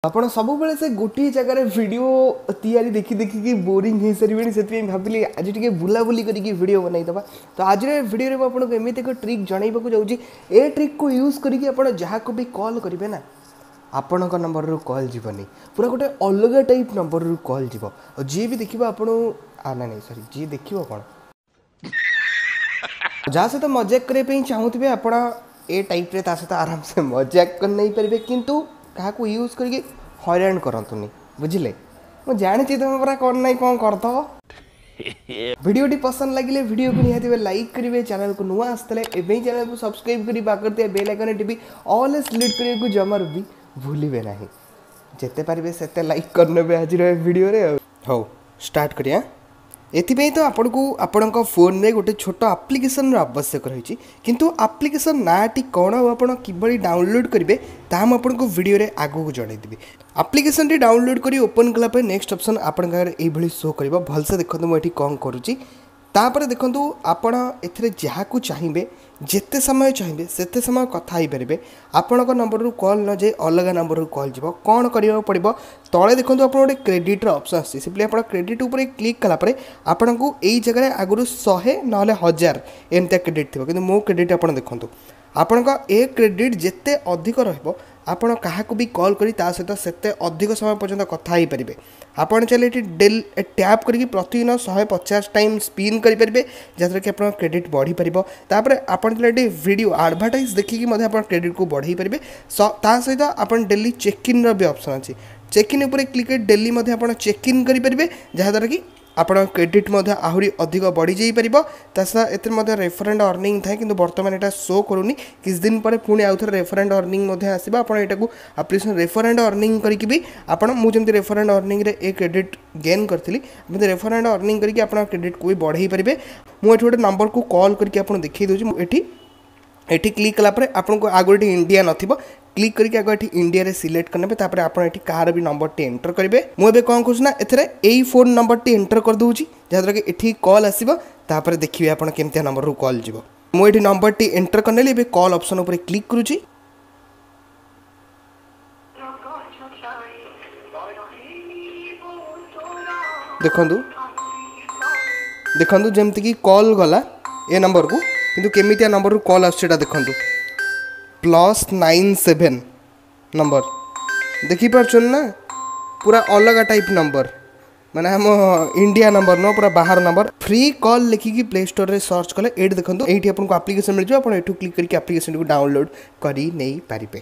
ଆପଣ ସବୁବେଳେ ସେ ଗୋଟିଏ ଜାଗାରେ ଭିଡ଼ିଓ ତିଆରି ଦେଖି ଦେଖିକି ବୋରିଂ ହେଇସାରିବେଣି। ସେଥିପାଇଁ ଭାବିଲି ଆଜି ଟିକେ ବୁଲାବୁଲି କରିକି ଭିଡ଼ିଓ ବନେଇଦେବା। ତ ଆଜିର ଏ ଭିଡ଼ିଓରେ ମୁଁ ଆପଣଙ୍କୁ ଏମିତି ଏକ ଟ୍ରିକ୍ ଜଣାଇବାକୁ ଯାଉଛି। ଏ ଟ୍ରିକ୍କୁ ୟୁଜ୍ କରିକି ଆପଣ ଯାହାକୁ ବି କଲ୍ କରିବେ ନା, ଆପଣଙ୍କ ନମ୍ବରରୁ କଲ୍ ଯିବନି, ପୁରା ଗୋଟେ ଅଲଗା ଟାଇପ୍ ନମ୍ବରରୁ କଲ୍ ଯିବ। ଆଉ ଯିଏ ବି ଦେଖିବ ଆପଣ, ନାଇଁ ନାଇଁ ସରି, ଯିଏ ଦେଖିବ କ'ଣ, ଯାହା ସହିତ ମଜାକ କରିବା ପାଇଁ ଚାହୁଁଥିବେ, ଆପଣ ଏ ଟାଇପ୍ରେ ତା ସହିତ ଆରାମସେ ମଜାକ କରି ନେଇପାରିବେ। କିନ୍ତୁ କାହାକୁ ୟୁଜ୍ କରିକି ହଇରାଣ କରନ୍ତୁନି, ବୁଝିଲେ? ମୁଁ ଜାଣିଛି ତୁମେ ପୁରା କ'ଣ ନାହିଁ କ'ଣ କରିଦେବ। ଭିଡ଼ିଓଟି ପସନ୍ଦ ଲାଗିଲେ ଭିଡ଼ିଓକୁ ନିହାତି ଲାଇକ୍ କରିବେ। ଚ୍ୟାନେଲକୁ ନୂଆ ଆସିଥିଲେ ଏବେ ହିଁ ଚ୍ୟାନେଲକୁ ସବସ୍କ୍ରାଇବ୍ କରି ପାଖରେ ଥିବା ବେଲ୍ ଆଇକନ୍ ଟିପି ଅଲ୍ ସିଲେକ୍ଟ କରିବାକୁ ଜମାରୁ ବି ଭୁଲିବେ ନାହିଁ। ଯେତେ ପାରିବେ ସେତେ ଲାଇକ୍ କରିନେବେ ଆଜିର ଏ ଭିଡ଼ିଓରେ। ଆଉ ହଉ, ଷ୍ଟାର୍ଟ କରିବା। ଏଥିପାଇଁ ତ ଆପଣଙ୍କୁ ଆପଣଙ୍କ ଫୋନ୍ରେ ଗୋଟେ ଛୋଟ ଆପ୍ଲିକେସନ୍ର ଆବଶ୍ୟକ ରହିଛି। କିନ୍ତୁ ଆପ୍ଲିକେସନ୍ ନାଁଟି କ'ଣ ଆଉ ଆପଣ କିଭଳି ଡାଉନଲୋଡ଼୍ କରିବେ, ତାହା ମୁଁ ଆପଣଙ୍କୁ ଭିଡ଼ିଓରେ ଆଗକୁ ଜଣାଇଦେବି। ଆପ୍ଲିକେସନ୍ଟି ଡାଉନଲୋଡ଼୍ କରି ଓପନ୍ କଲା ପରେ ନେକ୍ସଟ ଅପସନ୍ ଆପଣଙ୍କ ଆଗରେ ଏଇଭଳି ଶୋ କରିବ। ଭଲସେ ଦେଖନ୍ତୁ ମୁଁ ଏଠି କ'ଣ କରୁଛି। ତାପରେ ଦେଖନ୍ତୁ, ଆପଣ ଏଥିରେ ଯାହାକୁ ଚାହିଁବେ, ଯେତେ ସମୟ ଚାହିଁବେ ସେତେ ସମୟ କଥା ହେଇପାରିବେ। ଆପଣଙ୍କ ନମ୍ବରରୁ କଲ୍ ନ ଯାଇ ଅଲଗା ନମ୍ବରରୁ କଲ୍ ଯିବ। କ'ଣ କରିବାକୁ ପଡ଼ିବ? ତଳେ ଦେଖନ୍ତୁ, ଆପଣ ଗୋଟେ କ୍ରେଡ଼ିଟ୍ର ଅପସନ୍ ଆସୁଛି। ସିମ୍ପଲି ଆପଣ କ୍ରେଡ଼ିଟ୍ ଉପରେ କ୍ଲିକ୍ କଲା ପରେ ଆପଣଙ୍କୁ ଏଇ ଜାଗାରେ ଆଗରୁ 100 ନହେଲେ 1000 ଏମିତିଆ କ୍ରେଡ଼ିଟ୍ ଥିବ। କିନ୍ତୁ ମୋ କ୍ରେଡ଼ିଟ୍ ଆପଣ ଦେଖନ୍ତୁ, ଆପଣଙ୍କ ଏ କ୍ରେଡ଼ିଟ୍ ଯେତେ ଅଧିକ ରହିବ, ଆପଣ କାହାକୁ ବି କଲ୍ କରି ତା ସହିତ ସେତେ ଅଧିକ ସମୟ ପର୍ଯ୍ୟନ୍ତ କଥା ହେଇପାରିବେ। ଆପଣ ଚାହିଁଲେ ଏଠି ଡେଲି ଟ୍ୟାପ୍ କରିକି ପ୍ରତିଦିନ 150 ଟାଇମ୍ ସ୍ପିନ୍ କରିପାରିବେ, ଯାହାଦ୍ୱାରା କି ଆପଣଙ୍କ କ୍ରେଡ଼ିଟ୍ ବଢ଼ିପାରିବ। ତାପରେ ଆପଣ ଚାହିଁଲେ ଏଠି ଭିଡ଼ିଓ ଆଡ଼ଭର୍ଟାଇଜ୍ ଦେଖିକି ମଧ୍ୟ ଆପଣ କ୍ରେଡ଼ିଟ୍କୁ ବଢ଼େଇ ପାରିବେ। ତା ସହିତ ଆପଣ ଡେଲି ଚେକ୍ ଇନ୍ର ବି ଅପସନ୍ ଅଛି। ଚେକ୍ ଇନ୍ ଉପରେ କ୍ଲିକ୍ କରି ଡେଲି ମଧ୍ୟ ଆପଣ ଚେକ୍ ଇନ୍ କରିପାରିବେ, ଯାହାଦ୍ୱାରା କି ଆପଣଙ୍କ କ୍ରେଡ଼ିଟ୍ ମଧ୍ୟ ଆହୁରି ଅଧିକ ବଢ଼ିଯାଇପାରିବ। ତା ସହିତ ଏଥିରେ ମଧ୍ୟ ରେଫର ଆଣ୍ଡ ଅର୍ଣ୍ଣିଂ ଥାଏ, କିନ୍ତୁ ବର୍ତ୍ତମାନ ଏଇଟା ଶୋ କରୁନି। କିଛି ଦିନ ପରେ ପୁଣି ଆଉ ଥରେ ରେଫର ଆଣ୍ଡ ଅର୍ଣ୍ଣିଂ ମଧ୍ୟ ଆସିବ। ଆପଣ ଏଇଟାକୁ ଆପ୍ଲିକେସନ୍ ରେଫର ଆଣ୍ଡ ଅର୍ଣ୍ଣିଂ କରିକି ବି ଆପଣ, ମୁଁ ଯେମିତି ରେଫର ଆଣ୍ଡ ଅର୍ଣ୍ଣିଂରେ ଏ କ୍ରେଡ଼ିଟ୍ ଗେନ୍ କରିଥିଲି, ଏମିତି ରେଫର ଆଣ୍ଡ ଅର୍ଣ୍ଣିଂ କରିକି ଆପଣ କ୍ରେଡ଼ିଟ୍କୁ ବି ବଢ଼େଇ ପାରିବେ। ମୁଁ ଏଠି ଗୋଟେ ନମ୍ବରକୁ କଲ୍ କରିକି ଆପଣଙ୍କୁ ଦେଖାଇ ଦେଉଛି। ମୁଁ ଏଠି କ୍ଲିକ୍ କଲା ପରେ ଆପଣଙ୍କୁ ଆଗରୁ ଏଠି ଇଣ୍ଡିଆ ନଥିବ। କ୍ଲିକ୍ କରିକି ଆଗ ଏଠି ଇଣ୍ଡିଆରେ ସିଲେକ୍ଟ କରିନେବେ। ତାପରେ ଆପଣ ଏଠି କାହାର ବି ନମ୍ବରଟି ଏଣ୍ଟର କରିବେ। ମୁଁ ଏବେ କ'ଣ କରୁଛି ନା, ଏଥିରେ ଏଇ ଫୋନ୍ ନମ୍ବରଟି ଏଣ୍ଟର କରିଦେଉଛି, ଯାହାଦ୍ୱାରା କି ଏଠି କଲ୍ ଆସିବ। ତାପରେ ଦେଖିବେ ଆପଣ କେମିତିଆ ନମ୍ବରରୁ କଲ୍ ଯିବ। ମୁଁ ଏଠି ନମ୍ବରଟି ଏଣ୍ଟର କରିନେଲି। ଏବେ କଲ୍ ଅପସନ୍ ଉପରେ କ୍ଲିକ୍ କରୁଛି। ଦେଖନ୍ତୁ, ଦେଖନ୍ତୁ, ଯେମିତିକି କଲ୍ ଗଲା ଏ ନମ୍ବରକୁ, କିନ୍ତୁ କେମିତିଆ ନମ୍ବରରୁ କଲ୍ ଆସୁଛି ଏଇଟା ଦେଖନ୍ତୁ। +97 ନମ୍ବର ଦେଖିପାରୁଛନ୍ତି ନା? ପୁରା ଅଲଗା ଟାଇପ୍ ନମ୍ବର, ମାନେ ଆମ ଇଣ୍ଡିଆ ନମ୍ବର ନୁହଁ, ପୁରା ବାହାର ନମ୍ବର। ଫ୍ରି କଲ୍ ଲେଖିକି ପ୍ଲେ ଷ୍ଟୋରରେ ସର୍ଚ୍ଚ କଲେ ଏଇଠି ଦେଖନ୍ତୁ, ଏଇଠି ଆପଣଙ୍କୁ ଆପ୍ଲିକେସନ୍ ମିଳିଯିବ। ଆପଣ ଏଠୁ କ୍ଲିକ୍ କରିକି ଆପ୍ଲିକେସନ୍ଟିକୁ ଡାଉନଲୋଡ଼୍ କରି ନେଇପାରିବେ।